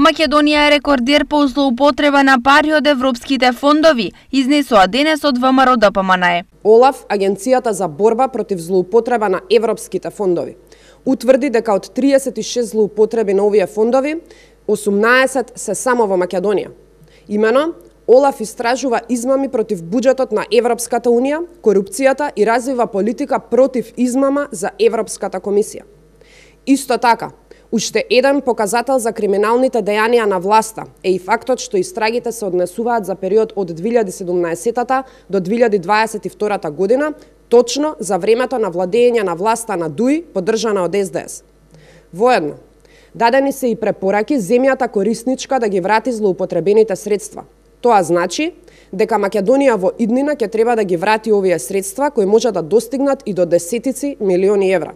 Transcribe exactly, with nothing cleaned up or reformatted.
Македонија е рекордер по злоупотреба на пари од европските фондови, изнесоа денес од ВМРО Д П М Н Е. ОЛАФ, Агенцијата за борба против злоупотреба на европските фондови, утврди дека од триесет и шест злоупотреби на овие фондови, осумнаесет се само во Македонија. Имено, ОЛАФ истражува измами против буџетот на Европската Унија, корупцијата и развива политика против измама за Европската комисија. Исто така, уште еден показател за криминалните дејанија на власта е и фактот што истрагите се однесуваат за период од две илјади и седумнаесета до две илјади дваесет и втора година, точно за времето на владење на власта на Д У И, поддржана од С Д С. Воедно, дадени се и препораки земјата корисничка да ги врати злоупотребените средства. Тоа значи дека Македонија во иднина ќе треба да ги врати овие средства кои може да достигнат и до десетици милиони евра.